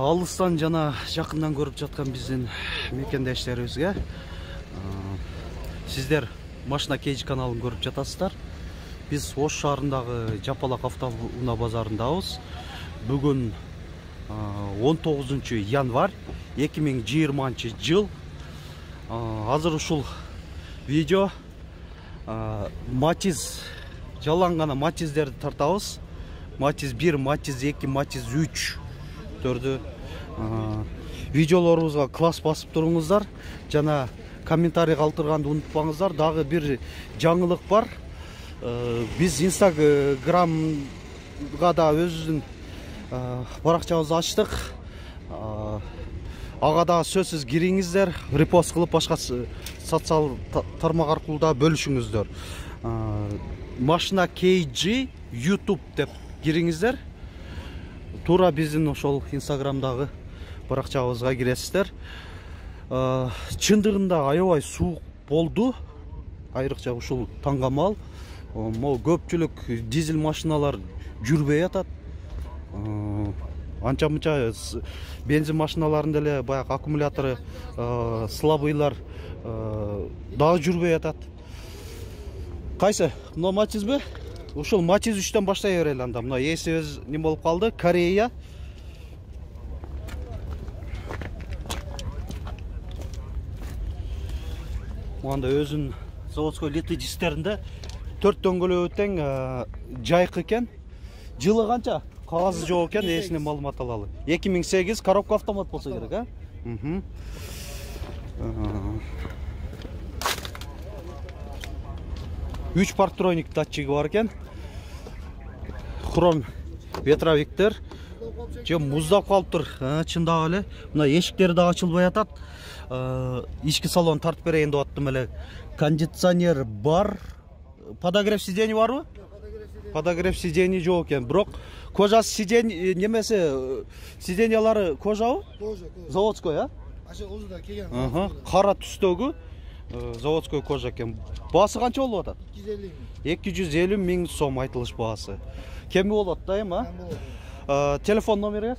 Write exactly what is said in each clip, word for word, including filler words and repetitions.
алыстан жана жакындан көрүп жаткан биздин мекендештерибизге сиздер Машина Кейж каналын көрүп жатасыздар. Биз Ош шаарындагы Жапалак автоунаа базарындабыз. Бүгүн он тогузунчу январь эки миң жыйырманчы жыл. Азыр ушул видео Матиз жаланган Матиздерди тартабыз. Матиз бир, Матиз эки, Матиз үч төрдү видеолорубузга класс басып туруңуздар. Жана комментарий калтырганды унутпаңыздар. Дагы бир жаңылык бар. Биз Инстаграмга да өзүбүздүн баракчабызды ачтык. Ага да сөзсүз кириңиздер, репост кылып башка социал тармак аркылуу да бөлүшүңүздөр. Машина Кейж YouTube деп кириңиздер. Туура биздин ошол Инстаграмдагы баракчабызга киресиздер. Чындыгында аябай суук болду. Айрыкча ушул таңгамал. Могу көпчүлүк дизель машиналар жүрбөй атат. Анча-мынча бензин машиналарында эле баягы аккумулятору слабыйлар дагы жүрбөй атат. Кайсы? Мына Матизби? Ушул Матиз үчтөн баштай берели анда. Мына эсибиз не болуп калды? Корея. Мында өзүн заводской литый дистеринде төрт дөңгөлөбү тең жайкы экен. Жылы канча? Кагазы жок экен, эсине маалымат алалы. эки миң сегиз коробка автомат болсо керек, а? Мм. үч парктроник датчиги бар экен. Хром ветровиктер. Же муздап калыптыр. Чындап эле. Мына эшиктери да ачылбай атат. Ички салон тартып берейин деп аттым эле. Кондиционер бар. Подогрев сидений барбы? Подогрев сидений жок экен. Бирок кожасы сидений немеси сидениялары кожабы? Кожа, кожа. Заводской, а? Аша озуда келген. Аха, кара түстөгү заводской кожа экен. Баасы канча болуп атат? эки жүз элүү миң сом айтылыш баасы. Кеми болот да эми, а? Телефон номери?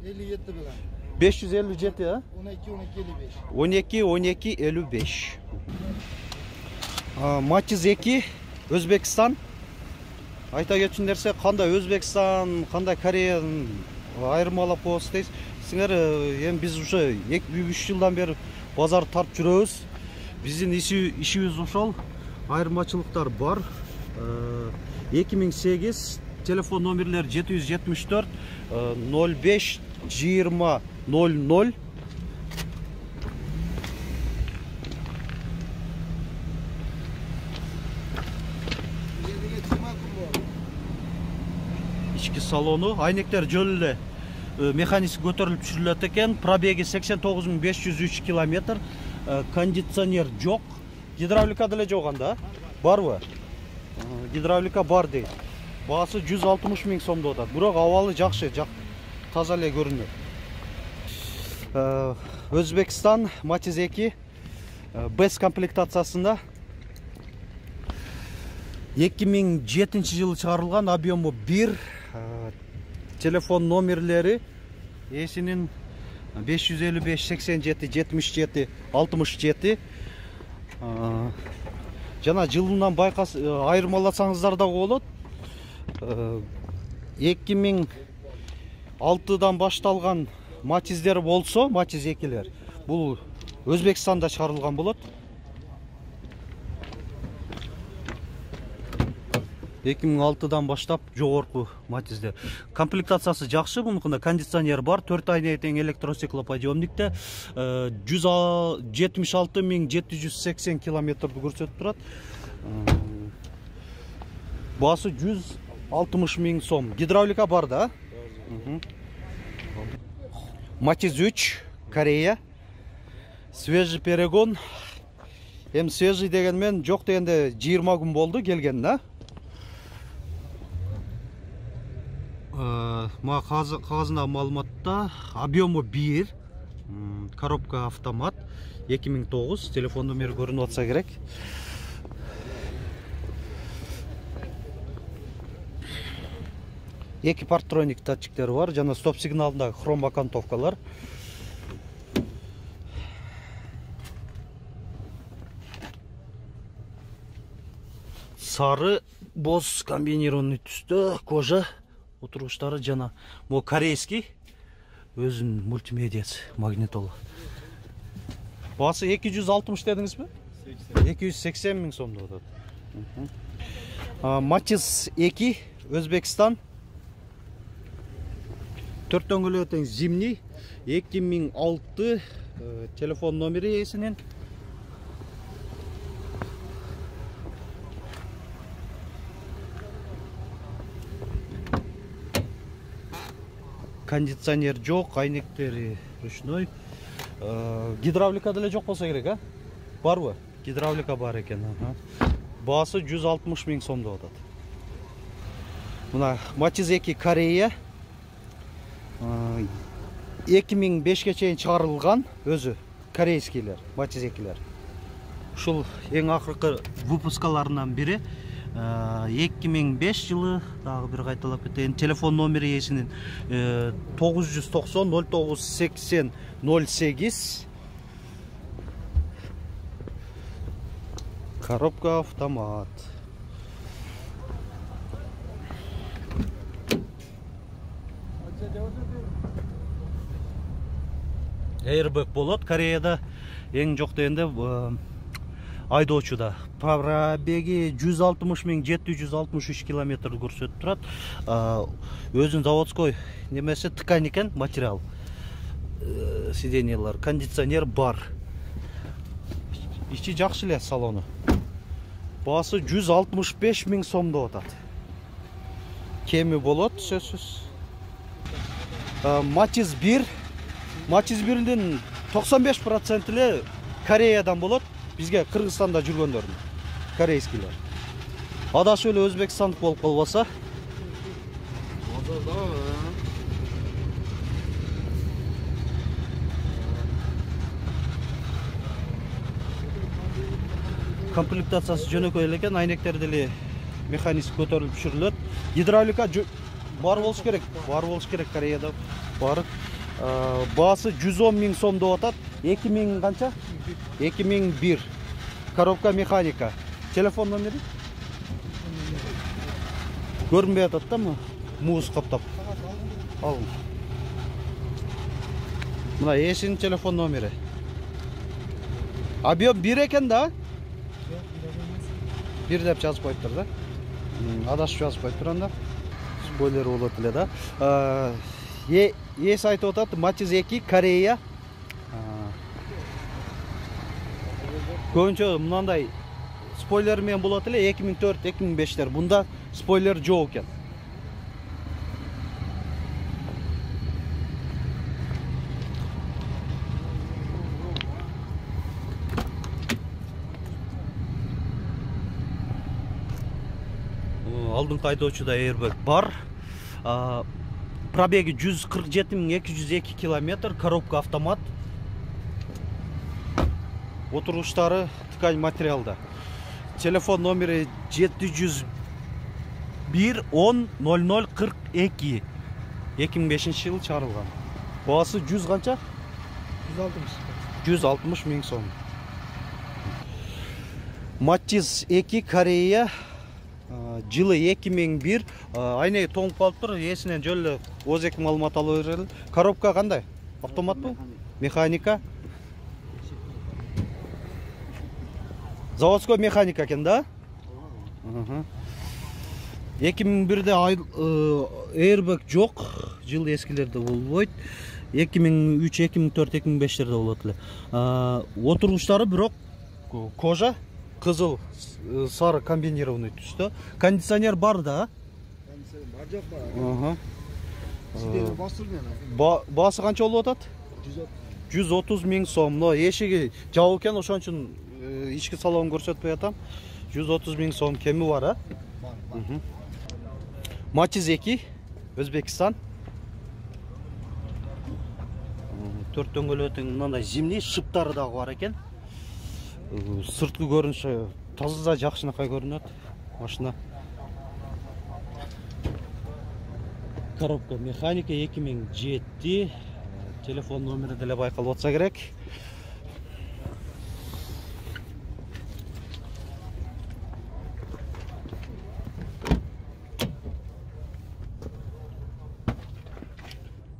элүү жети белен. беш жүз элүү жети, а? он эки он эки элүү беш. он эки он эки элүү беш. Матиз эки, Өзбекстан. Айта кетчү нерсе, кандай Өзбекстан, кандай Кореяны айырмалап коебуз дейсиз. Сиңер эми биз ушу эки үч жылдан бери базар тартып жүрөбүз. Биздин ишибиз ошол. Айырмачылыктар бар. эки миң сегиз телефон номерлери жети жүз жетимиш төрт ноль беш жыйырма ноль ноль. Ички салону, айнектер жөн эле механик көтөрүлүп түшүрүлөт экен. Пробеги сексен тогуз миң беш жүз үч километр. Кондиционер жок. Гидравлика деле жок анда. Барбы? Гидравлика бар дейт. Баасы жүз алтымыш миң сом деп атат. Бирок абалы жакшы, таза эле көрүнөт. Өзбекстан Матиз эки без комплектациясында эки миң жетинчи жылы чыгарылган, объему бир. Телефон номерлери эсинин беш жүз элүү беш сексен жети жетимиш жети алтымыш жети. Жана жылынан байкас айырмаласаңыздар да болот. эки миң алтыдан башталган Матиздер болсо, Матиз экилер, бул Өзбекстанда чыгарылган болот. эки миң алтыдан баштап жогорку Матиздер. Комплектациясы жакшы, мунукунда кондиционер бар, төрт айнеге тең электростеклоподъемникте, жүз жетимиш алты миң жети жүз сексен километрди көрсөтүп турат. Баасы жүз алтымыш миң сом. Гидравлика бар да? Матиз үч, Корея. Свежий перегон. Эми свежий деген мен жок дегенде жыйырма күн болду келген, да? Ма кагазында маалыматта объему бир, коробка автомат, эки миң тогуз, телефон номери көрүнүп атса керек. эки партроник датчиктери бар жана стоп сигналындагы хром окантовкалар. Сары боз комбинированный түстө кожа, отуруштары жана могу корейский өзүнүн мультимедиясы магнитола. Баасы эки жүз алтымыш дедиңизби? эки жүз сексен миң сомдо атат. Матиз эки Өзбекстан. төрт дөңгөлөгү тең зимний, эки миң алты телефон номери ээсинин. Кондиционер жок, айнектери ручной. Гидравлика деле жок болсо керек, а? Барбы? Гидравлика бар экен. Баасы жүз алтымыш миң сомдо атат. Мына Матиз эки Корея. эки миң бешке чейин чыгарылган, өзү корейскийлер, Матиз экилер. Ушул эң акыркы выпускаларынан бири. эки миң беш жылы, дагы бир кайталап кетейин, телефон номери ээсинин тогуз жүз токсон ноль тогуз сексен ноль сегиз. Коробка автомат. Airbag болот. Кореяда эң жок дегенде айдоочуда пробеги жүз алтымыш миң жети жүз алтымыш үч километр көрсөтүп турат. Өзүн заводской немеси ткань экен, материал. Сиденьялар, кондиционер бар. Ичи жакшы эле салону. Баасы жүз алтымыш беш миң сомдо атат. Кеми болот, сөзсүз. Матиз бир. Матиз бириндин токсон беш процент эле Кореядан болот. Бизге Кыргызстанда жүргөндөрдүн, корейскийлер. Адашып эле өзбекстандык болуп калбаса. Комплектациясы жөнөкөй эле экен, айнектери деле механизм көтөрүлүп түшүрүлөт. Гидравлика бар болуш керек, бар болуш керек Кореяда. Бар. Баасы жүз он миң сомдо атат. эки миң канча? эки миң бир. Коробка механика. Телефон номери? Көрүнбөй атат да, муз каптап. Ал. Мына ээсинин телефон номери. Объем бир экен да? бир деп жазып коюптур да. Адашып жазып коюптур анда. Спойлер болот эле да. Ээси айтып атат, Матиз эки Корея. Көбүнчө мындай спойлер менен болот эле эки миң төрт эки миң бештер. Бунда спойлер жок экен. Алдыңкы айдоочуда airbag бар. Пробеги жүз кырк жети миң эки жүз эки километр, коробка автомат. Отуруштары ткань материалда. Телефон номери жети жүз бир он ноль ноль кырк эки. эки миң бешинчи жылы чыгарылган. Баасы жүз канча? жүз алтымыш миң сом. Матиз эки Корея. Жылы эки миң бир. Айнеги тоңуп калыптыр. Ээсинен жөн эле өз эки маалымат алып берели. Коробка кандай? Автоматпы? Механика? Заводской механика экен да? эки миң бирде airbag жок, жыл эскилерде болбойт. эки миң үч, эки миң төрт, эки миң бештерде болот эле. Отуруштары бирок кожа, кызыл, сары комбинированный түстө. Кондиционер бар да? Кондиционер бар жок бар. Сиденье бастырган. Баасы канча болуп атат? жүз отуз миң сом. Но эшиги жабык экен, ошон үчүн ички салон көрсөтпөй атам. жүз отуз миң сом кеми бар, а? Бар. Матиз эки Өзбекстан. төрт дөңгөлөгү тең мындай зимний, шыптары дагы бар экен. Сырткы көрүнүшү таза жакшынакай көрүнөт машина. коробка механика эки миң жети. Телефон номери деле байкалып атса керек.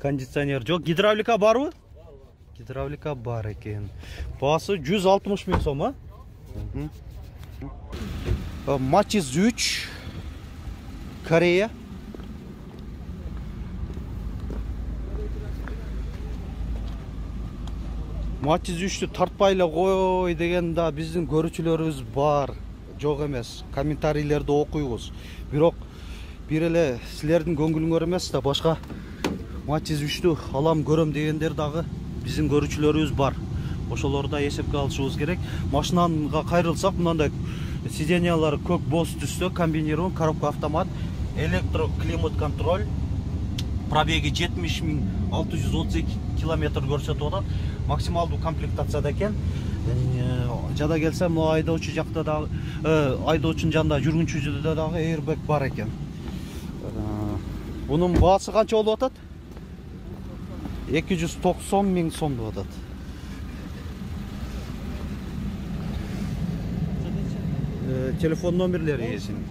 Кондиционер жок, гидравлика барбы? Гидравлика бар экен. Баасы жүз алтымыш миң сом, а? Матчиз үч, Корея. Матчиз үчтү тартпай эле кой деген да биздин көрүүчүлөрүбүз бар. Жок эмес. Комментарийлерди окуйбуз. Бирок бир эле силердин көңүлүңөр эмес да башка Матчиз үчтү алам көрөм дегендер дагы биздин көрүүчүлөрүбүз бар. Ошолорду да эсепке алышыбыз керек. Машинага кайрылсак, мындай сиденьялары көк боз түстө, комбинирован, коробка автомат, электроклимат контроль. Пробеги жетимиш миң алты жүз отуз эки километр көрсөтүп атат. Максималдуу комплектацияда экен. Жада келсе, могу айдоочу жакта дагы, айдоочунун жанында жүргүнчүдө дагы airbag бар экен. Бунун баасы канча болуп атат? эки жүз токсон миң сом деп атат. Телефон номерлери ээсинин.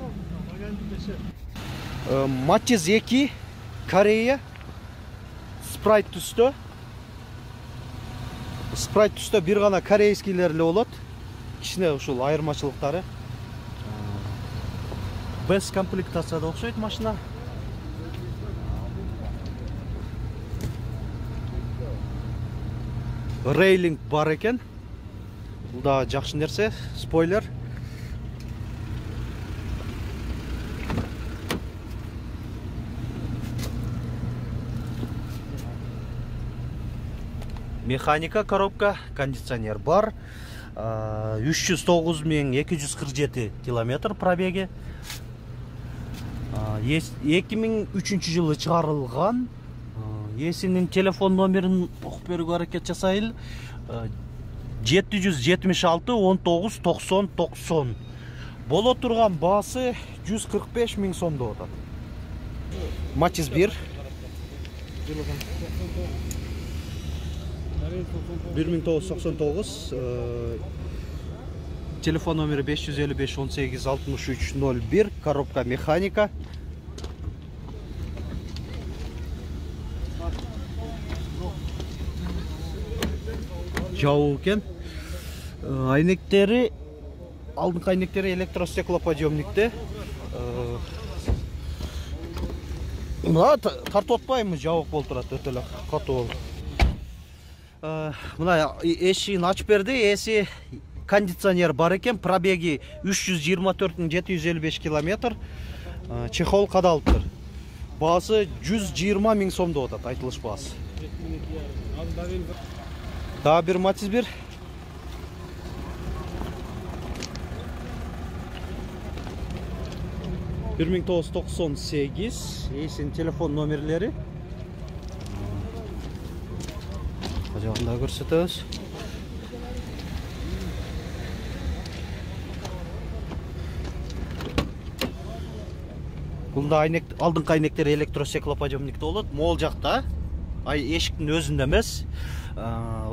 Матчиз эки, Корея, спрайт түстө. Спрайт түстө бир гана корейскийлер эле болот. Кичине ушул айырмачылыктары. Без комплектацияда окшойт машина. Рейлинг бар экен. Бул да жакшы нерсе, спойлер. Механика коробка, кондиционер бар. үч жүз тогуз миң эки жүз кырк жети километр пробеги. эки миң үчүнчү жылы чыгарылган. Ээсинин телефон номерин окуп берүүгө аракет жасайлы. жети жүз жетимиш алты он тогуз токсон токсон. Боло турган баасы жүз кырк беш миң сом деп атат. Матчиз бир. бир миң тогуз жүз токсон тогуз. Телефон номери беш жүз элүү беш он сегиз алтымыш үч ноль бир. Коробка механика. Жабуу экен. Айнектери, алдыңкы айнектери электростеклоподъемникте. Мына тартып атпаймы, жабык болуп турат, өтө эле катуу болуп. Мына эшигин ачып берди, эси кондиционер бар экен, пробеги үч жүз жыйырма төрт миң жети жүз элүү беш километр. Чехол кадалыптыр. Баасы жүз жыйырма миң сом деп атат, айтылыш баасы. Дагы бир Матчиз бир. бир миң тогуз жүз токсон сегиз. Эсинин телефон номерлери. Жагында көрсөтөбүз. Бул да айнек, алдыңкы айнектери электростеклоподъемникте болот. Могул жакта, ай эшиктин өзүндө эмес,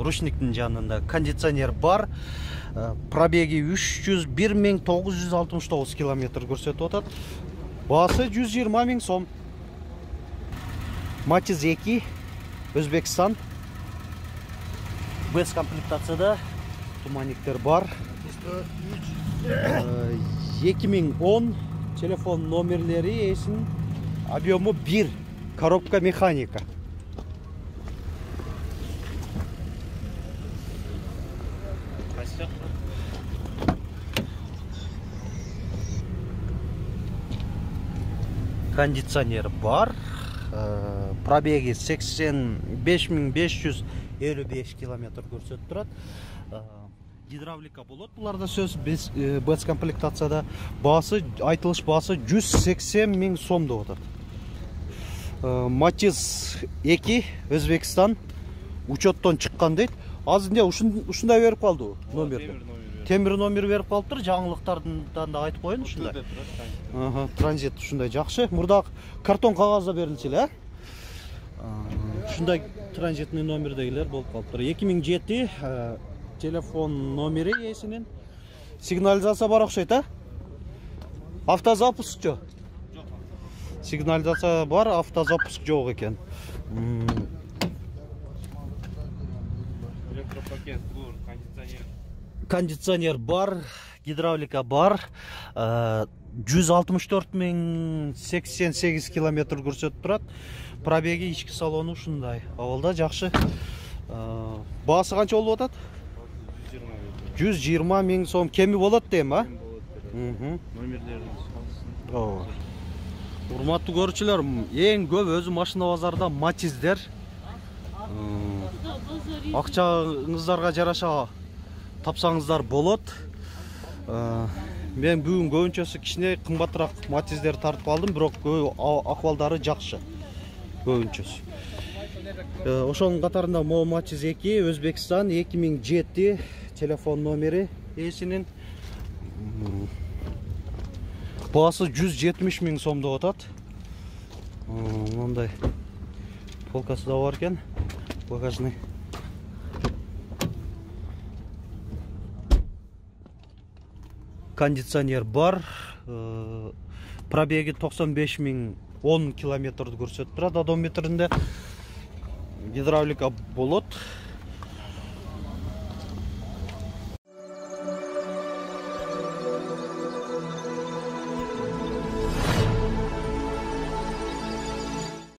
ручниктин жанында кондиционер бар. Пробеги үч жүз бир миң тогуз жүз алтымыш тогуз километр көрсөтүп атат. Баасы жүз жыйырма миң сом. Матчиз эки, Өзбекстан. Без комплектацияда туманниктер бар. эки миң он. Телефон номерлери эсин, объему бир. Коробка механика. Кондиционер бар. Пробеги сексен беш миң беш жүз элүү беш километр көрсөтүп турат. Гидравлика болот. Буларда сөз без без комплектацияда баасы, айтылыш баасы жүз сексен миң сом деп атат. Матчиз эки, Өзбекстан. Учеттон чыккан дейт. Азыр эмне ушундай берип калды номерди. темир номер берип калыптыр, жаңылыктардан да айтып коеюн ушундай. Ага, транзит ушундай жакшы. Мурда картон кагазда берилчү эле. Ушундай транзитный номердегилер болуп калыптыр. эки миң жети телефон номери ээсинин. Сигнализация бар окшойт, а? Автозапуск жок. Сигнализация бар, автозапуск жок экен. Электропакет бар, кондиционер. Кондиционер бар, гидравлика бар. жүз алтымыш төрт миң сексен сегиз километр көрсөтүп турат. Пробеги ички салону ушундай. Абалда жакшы. Баасы канча болуп атат? жүз жыйырма миң сом. Кеми болот дейм, а? Номерлерин салсын. Урматтуу көрүүчүлөр, эң көп өзү машина базарда Матиздер. Акчаңыздарга жараша тапсаңыздар болот. Мен бүгүн көбүнчөсү кичине кымбатыраак Матиздер тартып алдым, бирок акыбалдары жакшы. Көбүнчөсү. Ошонун катарында Мо Матиз эки, Өзбекстан, эки миң жети телефон номери ээсинин. Баасы жүз жетимиш миң сом деп атат. Мындай полкасы да бар экен. Багажный. Кондиционер бар. Пробеги токсон беш миң он километрди көрсөтүп турат одометринде. Гидравлика болот.